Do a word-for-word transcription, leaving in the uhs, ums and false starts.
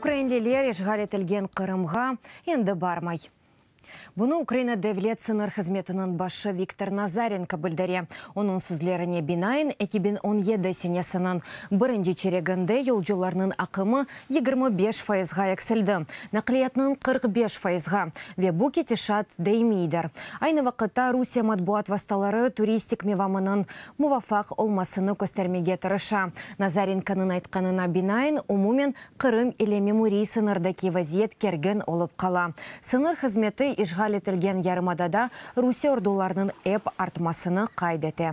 Ukrainliler işğal etilgen Qırımğa endi barmay. Bunı Ukraina Devlet sıñır hızmetiniñ başı Viktor Nazarenko bildire. Onıñ sözlerine binaen, eki biñ on yedi senesiniñ birinci çereginde yolcularnıñ aqımı yigirmi beş fayızğa eksildi. Naqliyatnıñ qırq beş fayızğa ve bu ketişat daimiydir. Aynı vaqıtta Rusiye matbuat vastaları turistik mevamınıñ muvafaq olmasını köstermege tırışa. Nazarenkonıñ aytqanına binaen, umumen Qırım ile memuriy sıñırdaki vaziyet kergin olıp qala. Sıñır hızmeti işğal etilgen yarımadada Rusiye ordularınıñ ep artmasını qayd ete.